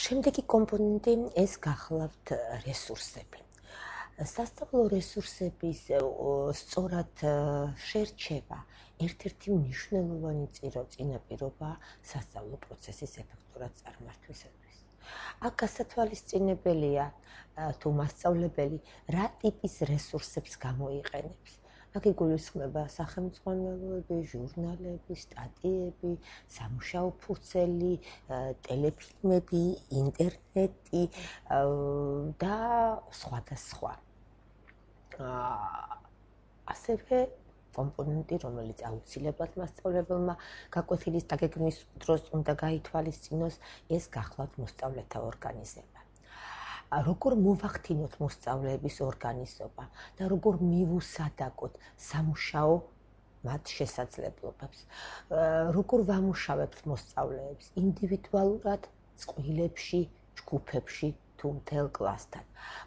შემდეგი კომპონენტი ეს გახლავთ რესურსები. სასწავლო რესურსების სწორად შერჩევა ერთ-ერთი მნიშვნელოვანი წინაპირობაა სასწავლო პროცესის ეფექტურად წარმართვისათვის. აქ გასათვალისწინებელია თუ მასწავლებელი რა ტიპის რესურსებს გამოიყენებს. აქ იგულისხმება სახელმძღვანელოები, ჟურნალები, სტატიები, სამუშაო ფურცელი, ტელეფილმები, ინტერნეტი და სხვა. ასევე კომპონენტი, რომელიც აუცილებლად მასწავლებელმა გაკვეთილის დაგეგმვის დროს უნდა გაითვალისწინოს, ეს გახლავთ მოსწავლეთა ორგანიზება. როგორ მოვახდინოთ მოსწავლეების ორგანიზება და როგორ მივუსადაგოთ სამუშაო მათ შესაძლებლობებს, როგორ ვამუშავებთ მოსწავლეებს ინდივიდუალურად, წყვილებში, ჯგუფებში თუ მთელ კლასთან.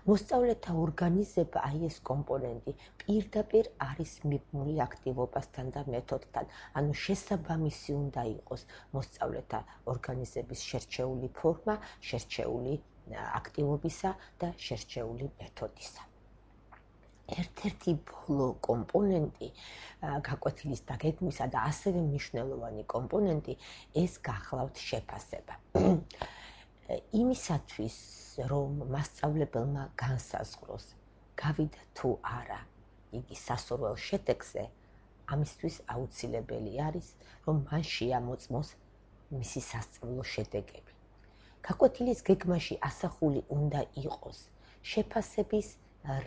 მოსწავლეთა ორგანიზება, აი ეს კომპონენტი, პირდაპირ არის მიბმული აქტივობასთან და მეთოდთან, ანუ შესაბამისი უნდა იყოს მოსწავლეთა ორგანიზების შერჩეული ფორმა, შერჩეული აქტივობისა და შერჩეული მეთოდისა. ერთ-ერთი ბოლო კომპონენტი გაკვეთილის დაგეგმვისა და ასევე მნიშვნელოვანი კომპონენტი ეს გახლავთ შეფასება. იმისათვის, რომ მასწავლებელმა განსაზღვროს, გავიდა თუ არა იგი სასურველ შედეგზე, ამისთვის აუცილებელი არის, რომ მან შეამოწმოს მისი სასწავლო შედეგები. გაკვეთილის გეგმაში ასახული უნდა იყოს შეფასების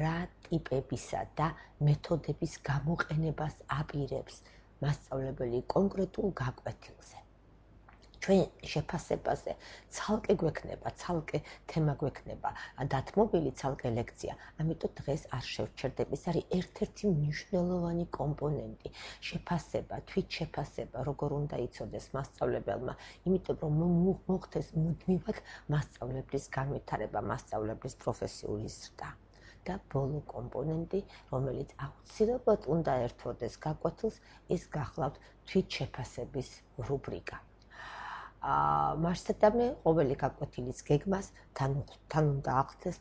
რა ტიპებისა და მეთოდების გამოყენებას აპირებს მასწავლებელი კონკრეტულ გაკვეთილზე. ჩვენ შეფასებაზე ცალკე გვექნება, ცალკე თემა გვექნება, დათმობილი ცალკე ლექცია, ამიტომ დღეს არ შევჩერდები, ეს არის ერთ-ერთი მნიშვნელოვანი კომპონენტი. შეფასება, თვითშეფასება, როგორ უნდა იცოდეს მასწავლებელმა, იმიტომ რომ მოხდეს მუდმივად მასწავლებლის განვითარება, მასწავლებლის პროფესიული ზრდა. და ბოლო კომპონენტი, რომელიც აუცილებლად უნდა ერთვოდეს გაკვეთილს, ეს გახლავთ თვითშეფასების რუბრიკა. მასშტაბი ყოველი გაკვეთილის გეგმას თან უნდა ახდენს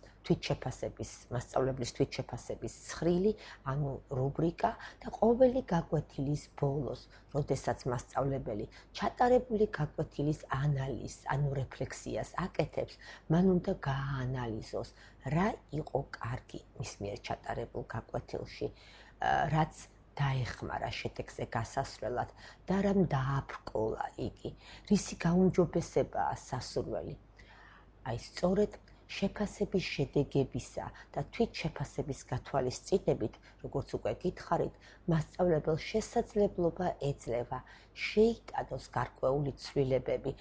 მასწავლებლის თვითშეფასების ცხრილი, ანუ რუბრიკა და ყოველი გაკვეთილის ბოლოს, როდესაც მასწავლებელი ჩატარებული გაკვეთილის ანალიზს, ანუ რეფლექსიას აკეთებს, მან უნდა გააანალიზოს, რა იყო კარგი მის მიერ ჩატარებულ გაკვეთილში, რაც დაეხმარა შედეგზე გასასვლელად და რამ დააბრკოლა იგი, რისი გაუმჯობესებაა სასურველი. აი სწორედ შეფასების შედეგებისა და თვითშეფასების გათვალისწინებით, როგორც უკვე გითხარით, მასწავლებელს შესაძლებლობა ეძლევა შეიტანოს გარკვეული ცვლილებები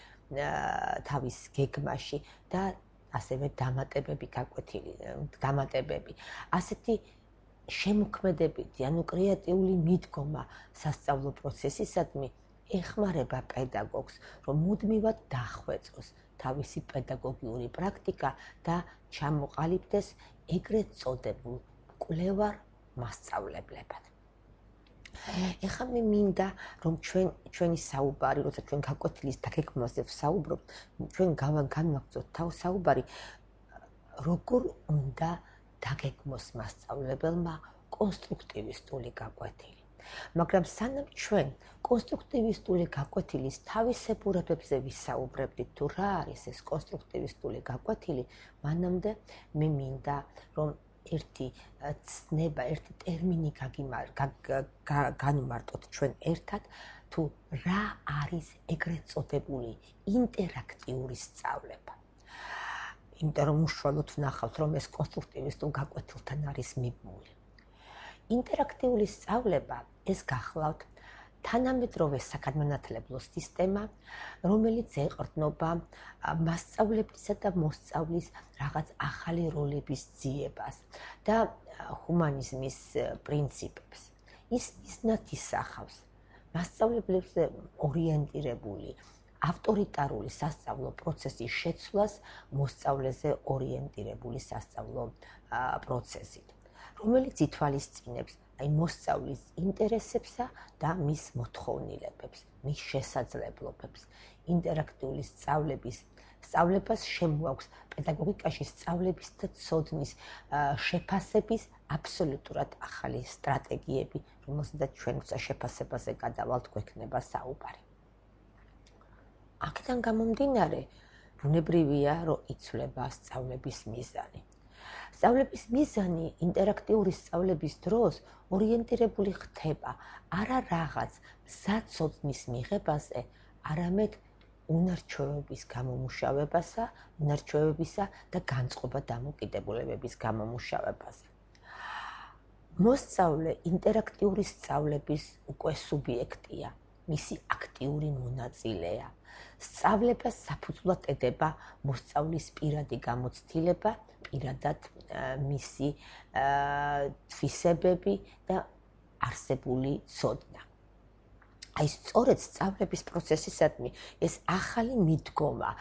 თავის გეგმაში და ასევე დამატებები. ასეთი შემოქმედებითი, ანუ კრეატიული მიდგომა სასწავლო პროცესისადმი ეხმარება პედაგოგს, რომ მუდმივად დახვეწოს თავისი პედაგოგიური პრაქტიკა და ჩამოყალიბდეს ეგრეთ წოდებულ კვლევარ მასწავლებლებად. ეხლა მე მინდა, რომ ჩვენი საუბარი, როცა ჩვენ გაკვეთილის დაგეგმვაზე ვსაუბრობთ, ჩვენ განვაგრძოთ საუბარი, როგორ უნდა დაგეგმოს მასწავლებელმა კონსტრუქტივისტული გაკვეთილი. მაგრამ სანამ ჩვენ კონსტრუქტივისტული გაკვეთილის თავისებურებებზე ვისაუბრებდით, თუ რა არის ეს კონსტრუქტივისტული გაკვეთილი, მანამდე მე მინდა, რომ ერთი ცნება, ერთი ტერმინი განვმარტოთ ჩვენ ერთად, თუ რა არის ეგრეთ წოდებული ინტერაქტიული სწავლება. იმიტომ რომ უშუალოდ ვნახავთ, რომ ეს კონსტრუქტივისტულ გაკვეთილთან არის მიბმული. ინტერაქტიული სწავლება ეს გახლავთ თანამედროვე საგანმანათლებლო სისტემა, რომელიც ეყრდნობა მასწავლებლისა და მოსწავლის რაღაც ახალი როლების ძიებას და ჰუმანიზმის პრინციპებს. ის მიზნად ისახავს მასწავლებლებზე ორიენტირებული ავტორიტარული სასწავლო პროცესის შეცვლას მოსწავლეზე ორიენტირებული სასწავლო პროცესით, რომელიც ითვალისწინებს მოსწავლის ინტერესებსა და მის მოთხოვნილებებს, მის შესაძლებლობებს. ინტერაქტიული სწავლების სწავლებას შემოაქვს პედაგოგიკაში სწავლების და ცოდნის შეფასების აბსოლუტურად ახალი სტრატეგიები, რომელსაც ჩვენ შეფასებაზე გადავალთ, გვექნება საუბარი. აქედან გამომდინარე, ბუნებრივია, რომ იცვლება სწავლების მიზანი. სწავლების მიზანი ინტერაქტიული სწავლების დროს ორიენტირებული ხდება არა რაღაც მზაცოდნის მიღებაზე, არამედ უნარჩვევების გამომუშავებისა და განწყობა დამოკიდებულებების გამომუშავებაზე. მოსწავლე ინტერაქტიული სწავლების უკვე სუბიექტია, მისი აქტიური მონაწილეა. სწავლებას საფუძვლად ედება მოსწავლის პირადი გამოცდილება, პირადად მისი თვისებები და არსებული ცოდნა. აი სწორედ სწავლების პროცესისადმი ეს ახალი მიდგომა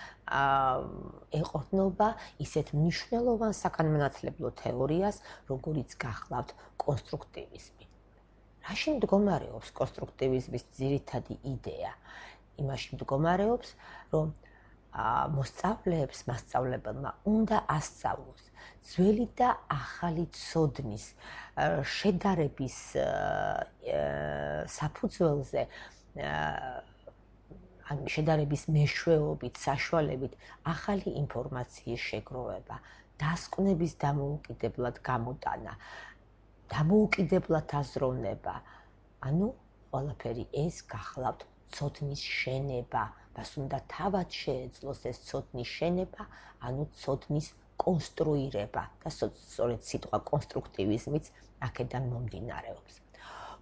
ეყრდნობა ისეთ მნიშვნელოვან საგანმანათლებლო თეორიას, როგორიც გახლავთ კონსტრუქტივიზმი. რაში მდგომარეობს კონსტრუქტივიზმის ძირითადი იდეა? იმაში მდგომარეობს, რომ მოსწავლეებს, მასწავლებელმა უნდა ასწავლოს ძველი და ახალი ცოდნის შედარების საფუძველზე, შედარების მეშვეობით, საშუალებით ახალი ინფორმაციის შეგროვება, დასკვნების დამოუკიდებლად გამოტანა, დამოუკიდებლად აზროვნება, ყველაფერი ეს გახლავთ ცოდნის შენება, მას უნდა თავად შეეძლოს ეს ცოდნის შენება, ცოდნის კონსტრუირება და სწორედ სიტყვა კონსტრუქტივიზმიც აქედან მომდინარეობს.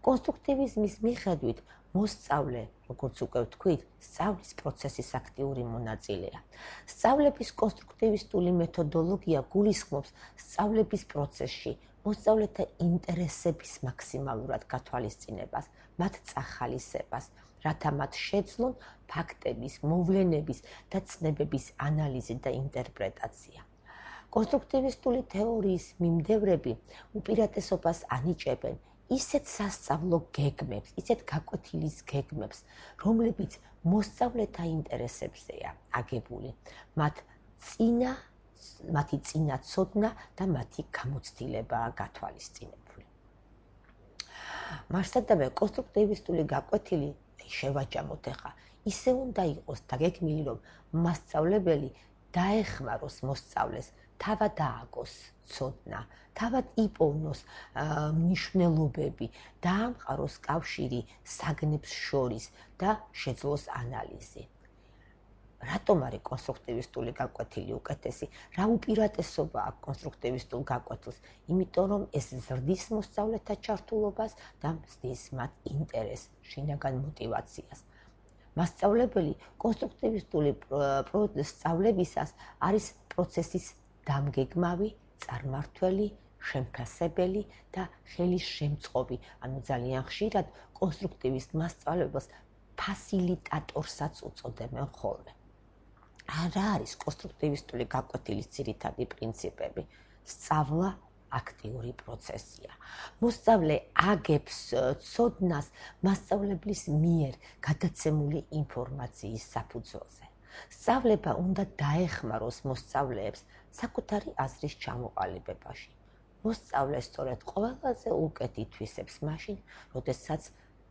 კონსტრუქტივიზმის მიხედვით მოსწავლე, როგორც უკვე ვთქვით, სწავლის პროცესის აქტიური მონაწილეა. სწავლების კონსტრუქტივისტული მეთოდოლოგია გულისხმობს სწავლების პროცესში მოსწავლეთა ინტერესების მაქსიმალურად გათვალისწინებას, მათ წახალისებას, რათა მათ შეძლონ ფაქტების, მოვლენების და ცნებების ანალიზი და ინტერპრეტაცია. კონსტრუქტივისტული თეორიის მიმდევრები უპირატესობას ანიჭებენ ისეთ სასწავლო გეგმებს, ისეთ გაკვეთილის გეგმებს, რომლებიც მოსწავლეთა ინტერესებზეა აგებული, მათი წინა ცოდნა და მათი გამოცდილებაა გათვალისწინებული. მასადამე კონსტრუქტივისტული გაკვეთილი შევაჯამოთ ახლა, ისე უნდა იყოს დაგეგმილი, რომ მასწავლებელი დაეხმაროს მოსწავლეს, თავად ააგოს ცოდნა, თავად იპოვნოს მნიშვნელობები, დაამყაროს კავშირი საგნებს შორის და შეძლოს ანალიზი. რატომ არის კონსტრუქტივისტული გაკვეთილი უკეთესი? რა უპირატესობა აქვს კონსტრუქტივისტულ გაკვეთილს? იმიტომ რომ ეს ზრდის მოსწავლეთა ჩართულობას და ზრდის მათ ინტერესს, შინაგან მოტივაციას. მასწავლებელი კონსტრუქტივისტული სწავლებისას არის პროცესის დამგეგმავი, წარმმართველი, შემფასებელი და ხელისშემწყობი, ძალიან ხშირად კონსტრუქტივისტ მასწავლებელს ფასილიტატორსაც უწოდებენ ხოლმე. რა არის კონსტრუქტივისტული გაკვეთილის ძირითადი პრინციპები? სწავლა აქტიური პროცესია. მოსწავლე აგებს ცოდნას მასწავლებლის მიერ გადაცემული ინფორმაციის საფუძველზე. სწავლება უნდა დაეხმაროს მოსწავლეებს საკუთარი აზრის ჩამოყალიბებაში. მოსწავლე სწორედ ყველაზე უკეთ ითვისებს მაშინ, როდესაც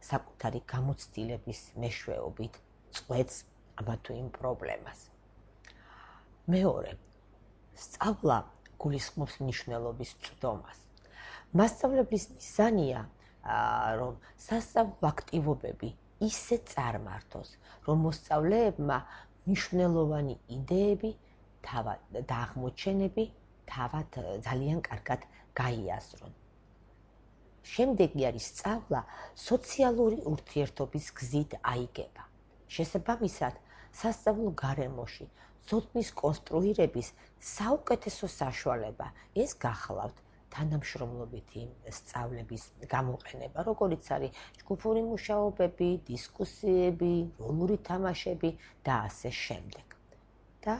საკუთარი გამოცდილების მეშვეობით წყვეტს ამა თუ იმ პრობლემას. მეორე, სწავლა გულისხმობს მნიშვნელობის წვდომას. მასწავლებლის მიზანია, რომ სასწავლო აქტივობები ისე წარმართოს, რომ მოსწავლეებმა მნიშვნელოვანი იდეები და აღმოჩენები თავად ძალიან კარგად გაიაზრონ. შემდეგი არის სწავლა სოციალური ურთიერთობის გზით აიგება. შესაბამისად, სასწავლო გარემოში ცოდნის კონსტრუირების საუკეთესო საშუალება ეს გახლავთ თანამშრომლობითი სწავლების გამოყენება, როგორიც არის ჯგუფური მუშაობები, დისკუსიები, როლური თამაშები და ასე შემდეგ. და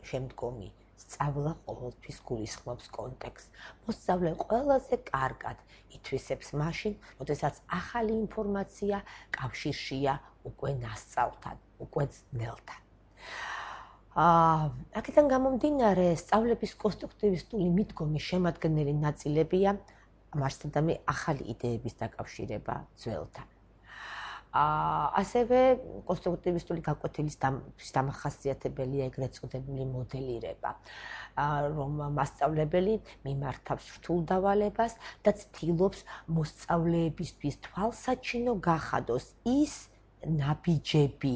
შემდგომი სწავლა ყოველთვის გულისხმობს კონტექსტს. მოსწავლე ყველაზე კარგად ითვისებს მაშინ, როდესაც ახალი ინფორმაცია კავშირშია უკვე ნასწავლთან, უკვე ძნელთან. აქედან გამომდინარე, სწავლების კონსტრუქტივისტული მიდგომის შემადგენელი ნაწილებია მარქსიზმი ახალი იდეების დაკავშირება ძველთან. ასევე კონსტრუქტივისტული გაკვეთილის დამახასიათებელია ეგრეთ წოდებული მოდელირება, რომ მასწავლებელი მიმართავს რთულ დავალებას და ცდილობს მოსწავლეებისთვის თვალსაჩინო გახადოს ის ნაბიჯები,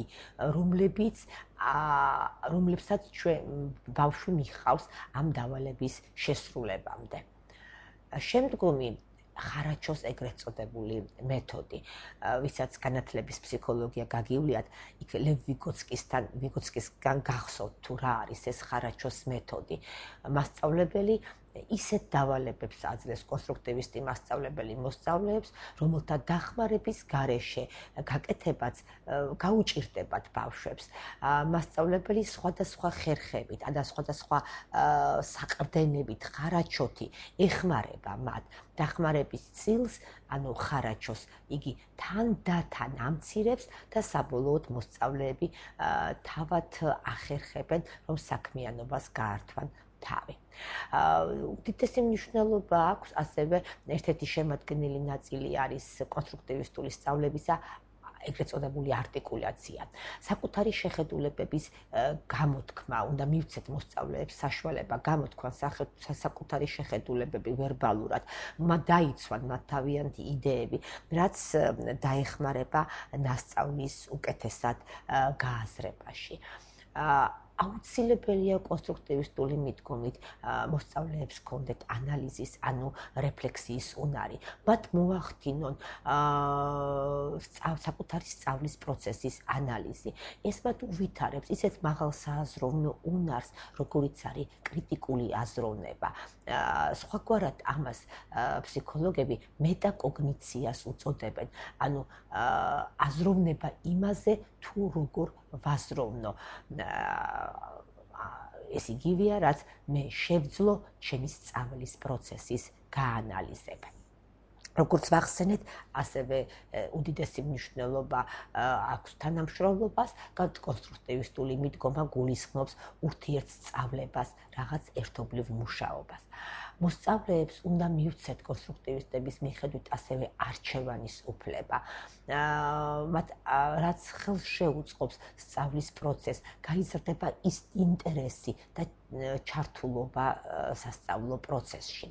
რომლებსაც ბავშვი მიჰყავს ამ დავალების შესრულებამდე. შემდგომი ხარაჩოს ეგრეთ წოდებული მეთოდი, ვისაც განათლების ფსიქოლოგია გაგივლიათ, იქ ლევ ვიგოცკისგან გახსოვთ თუ რა არის ეს ხარაჩოს მეთოდი. მასწავლებელი ისეთ დავალებებს აძლევს კონსტრუქტივისტი მასწავლებელი მოსწავლეებს, რომელთა დახმარების გარეშე გაკეთებაც გაუჭირდებათ ბავშვებს. მასწავლებელი სხვადასხვა ხერხებით და სხვადასხვა საყრდენებით ხარაჩოთი ეხმარება მათ. დახმარების წილს, ანუ ხარაჩოს, იგი თანდათან ამცირებს და საბოლოოდ მოსწავლეები თავად ახერხებენ, რომ საქმიანობას გაართვან თავი. უდიდესი მნიშვნელობა აქვს ასევე ერთ-ერთი შემადგენელი ნაწილი არის კონსტრუქტივისტული სწავლებისა ეგრეთ წოდებული არტიკულაცია. საკუთარი შეხედულებების გამოთქმა, უნდა მივცეთ მოსწავლეებს საშუალება გამოთქვან საკუთარი შეხედულებები ვერბალურად, დაიცვან მათ თავიანთი იდეები, რაც დაეხმარება მასწავლის უკეთესად გააზრებაში. აუცილებელია კონსტრუქტივისტული მიდგომით მოსწავლეებს ჰქონდეთ ანალიზის, ანუ რეფლექსიის უნარი. მათ მოახდინონ საკუთარი სწავლის პროცესის ანალიზი. ეს მათ უვითარებს ისეთ მაღალ სააზროვნო უნარს, როგორიც არის კრიტიკული აზროვნება. სხვაგვარად ამას ფსიქოლოგები მეტაკოგნიციას უწოდებენ, ანუ აზროვნება იმაზე, თუ როგორ ვაზროვნო. ეს იგივეა, რაც მე შევძლო ჩემი სწავლის პროცესის გაანალიზება. როგორც ვახსენეთ, ასევე უდიდესი მნიშვნელობა აქვს თანამშრომლობას, კონსტრუქტივისტული მიდგომა გულისხმობს ურთიერთსწავლებას, რაღაც ერთობლივ მუშაობას. მოსწავლეებს უნდა მივცეთ კონსტრუქტივისტების მიხედვით ასევე არჩევანის უფლება. რაც ხელს შეუწყობს სწავლის პროცესს, გაიზრდება ის ინტერესი და ჩართულობა სასწავლო პროცესში.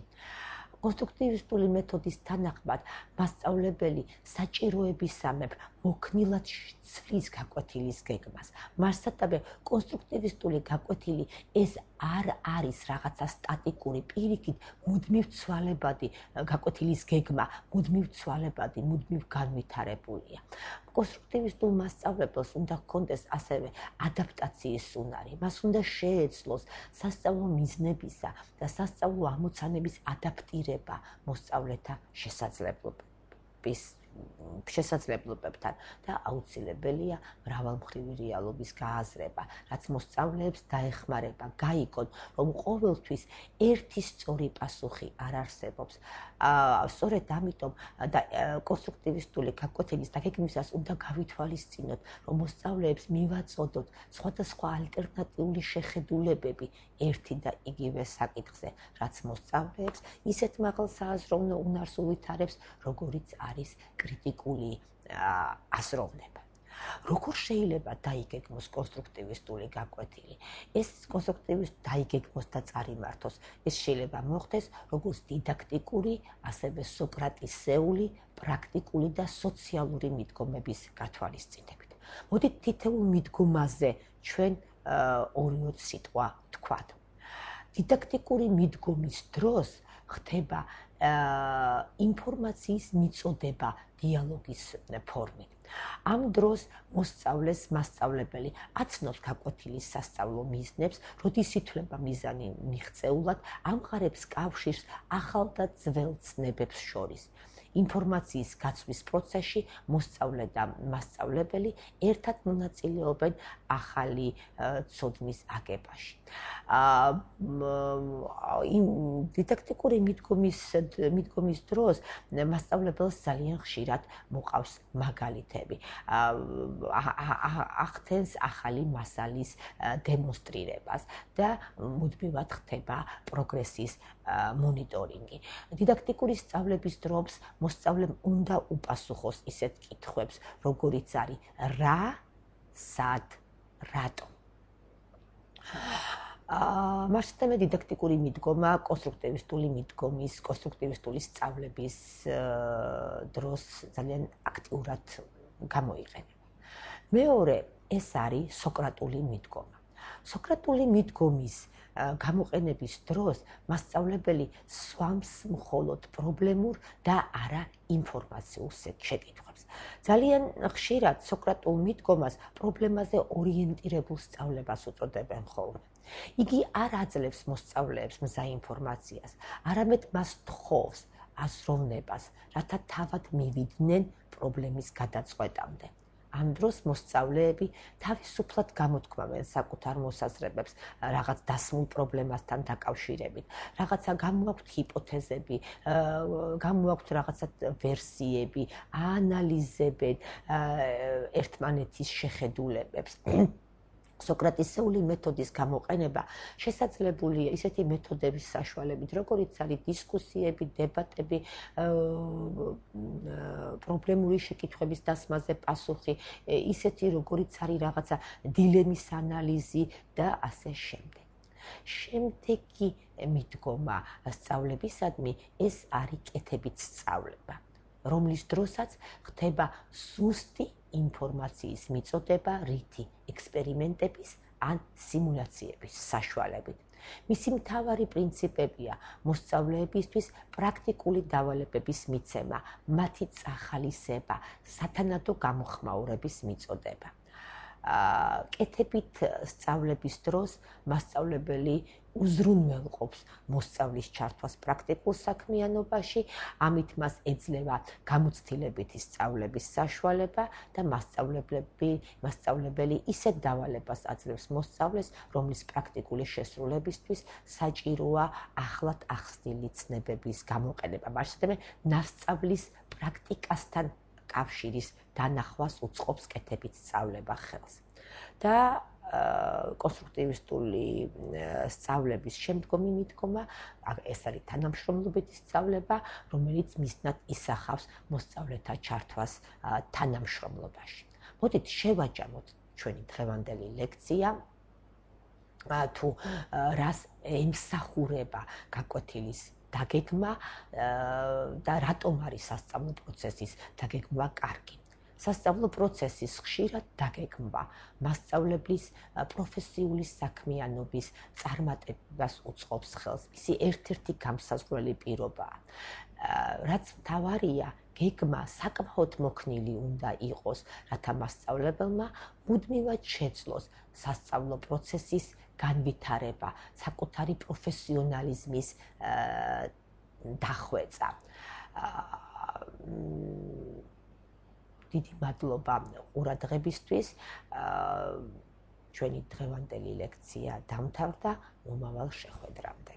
კონსტრუქტივისტული მეთოდის თანახმად მასწავლებელი საჭიროებისამებრ მოქნილად ცვლის გაკვეთილის გეგმას. მასსატაბე კონსტრუქტივისტული გაკვეთილი ეს არ არის რაღაცა სტატიკური, პირიქით მუდმივ ცვალებადი გაკვეთილის გეგმა, მუდმივ ცვალებადი, მუდმივ განვითარებულია. კონსტრუქტივისტულ მასწავლებელს უნდა ჰქონდეს ასევე ადაპტაციის უნარი. მას უნდა შეეძლოს სასწავლო მიზნებისა და სასწავლო ამოცანების ადაპტირება მოსწავლეთა შესაძლებლობებთან და აუცილებელია მრავალმხრივი რეალობის გააზრება, რაც მოსწავლეებს დაეხმარება გაიგონ, რომ ყოველთვის ერთი სწორი პასუხი არ არსებობს. სწორედ ამიტომ კონსტრუქტივისტული გაკვეთილის დაგეგმვისას უნდა გავითვალისწინოთ, რომ მოსწავლეებს მივაწოდოთ სხვადასხვა ალტერნატიული შეხედულებები ერთი და იგივე საკითხზე, რაც მოსწავლეებს ისეთ მაღალ სააზროვნო უნარს უვითარებს, როგორიც არის კრიტიკული აზროვნება. როგორ შეიძლება დაიგეგმოს კონსტრუქტივისტული გაკვეთილი? ეს კონსტრუქტივისტ დაიგეგმოს და წარიმართოს. ეს შეიძლება მოხდეს როგორც დიდაქტიკური, ასევე სოკრატისეული, პრაქტიკული და სოციალური მიდგომების გათვალისწინებით. მოდით თითოეულ მიდგომაზე ჩვენ ორი სიტყვა ვთქვათ. დიდაქტიკური მიდგომის დროს ხდება ინფორმაციის მიწოდება დიალოგის ფორმით. ამ დროს მოსწავლეს მასწავლებელი აცნობს გაკვეთილის სასწავლო მიზნებს, როდის ითვლება მიზანი მიღწეულად, ამყარებს კავშირს ახალ და ძველ ცნებებს შორის. ინფორმაციის გაცვლის პროცესში მოსწავლე და მასწავლებელი ერთად მონაწილეობენ ახალი ცოდნის აგებაში. დიდაქტიკური მიდგომის დროს მასწავლებელს ძალიან ხშირად მოყავს მაგალითები. ახდენს ახალი მასალის დემონსტრირებას და მუდმივად ხდება პროგრესის მონიტორინგი. დიდაქტიკური სწავლების დროს მოსწავლემ უნდა უპასუხოს ისეთ კითხვებს, როგორიც არის რა, სად, რატომ. მასშტაბე დიდაქტიკური მიდგომა კონსტრუქტივისტული სწავლების დროს ძალიან აქტიურად გამოიყენება. მეორე ეს არის სოკრატული მიდგომა. სოკრატული მიდგომის გამოყენების დროს მასწავლებელი სვამს მხოლოდ პრობლემურ და არა ინფორმაციულ შეკითხვებს. ძალიან ხშირად სოკრატულ მიდგომას პრობლემაზე ორიენტირებულ სწავლებას უწოდებენ ხოლმე. იგი არ აძლევს მოსწავლეებს მზა ინფორმაციას, არამედ მას თხოვს აზროვნებას, რათა თავად მივიდნენ პრობლემის გადაწყვეტამდე. ამ დროს მოსწავლეები თავისუფლად გამოთქვამენ საკუთარ მოსაზრებებს რაღაც დასმულ პრობლემასთან დაკავშირებით. რაღაცა გამოაქვთ ჰიპოთეზები, გამოაქვთ რაღაცა ვერსიები, აანალიზებენ ერთმანეთის შეხედულებებს. სოკრატისეული მეთოდის გამოყენება შესაძლებელია ისეთი მეთოდების საშუალებით, როგორიც არის დისკუსიები, დებატები, პრობლემური შეკითხვების დასმაზე პასუხი, ისეთი როგორიც არის რაღაცა დილემის ანალიზი და ასე შემდეგ. შემდეგი მიდგომა სწავლებისადმი ეს არის კეთებით სწავლება, რომლის დროსაც ხდება ზუსტი ინფორმაციის მიწოდება რითი ექსპერიმენტების ან სიმულაციების საშუალებით. მისი მთავარი პრინციპებია მოსწავლეებისთვის პრაქტიკული დავალებების მიცემა, მათი წახალისება, სათანადო გამოხმაურების მიწოდება. კეთებით სწავლების დროს მასწავლებელი უზრუნველყოფს მოსწავლის ჩართვას პრაქტიკულ საქმიანობაში, ამით მას ეძლევა გამოცდილებითი სწავლების საშუალება და მასწავლებელი ისეთ დავალებას აძლევს მოსწავლეს, რომლის პრაქტიკული შესრულებისთვის საჭიროა ახლად ახსნილი ცნებების გამოყენება. მასშტაბე ნასწავლის პრაქტიკასთან კავშირის დანახვას უწყობს კეთებით სწავლება ხელს. და კონსტრუქტივისტული სწავლების შემდგომი მიდგომა, ეს არის თანამშრომლობითი სწავლება, რომელიც მიზნად ისახავს მოსწავლეთა ჩართვას თანამშრომლობაში. მოდით შევაჯამოთ ჩვენი დღევანდელი ლექცია, თუ რას ემსახურება გაკვეთილის დაგეგმა და რატომ არის სასწავლო პროცესის დაგეგმვა კარგი. სასწავლო პროცესის ხშირად დაგეგმვა მასწავლებლის პროფესიული საქმიანობის წარმატებას უწყობს ხელს. მისი ერთ-ერთი გამსაზღვრელი პირობაა. რაც მთავარია, გეგმა საკმაოდ მოქნილი უნდა იყოს, რათა მასწავლებელმა მუდმივად შეძლოს სასწავლო პროცესის განვითარება, საკუთარი პროფესიონალიზმის დახვეწა. დიდი მადლობა ყურადღებისთვის. ჩვენი დღევანდელი ლექცია დამთავრდა. მომავალ შეხვედრამდე.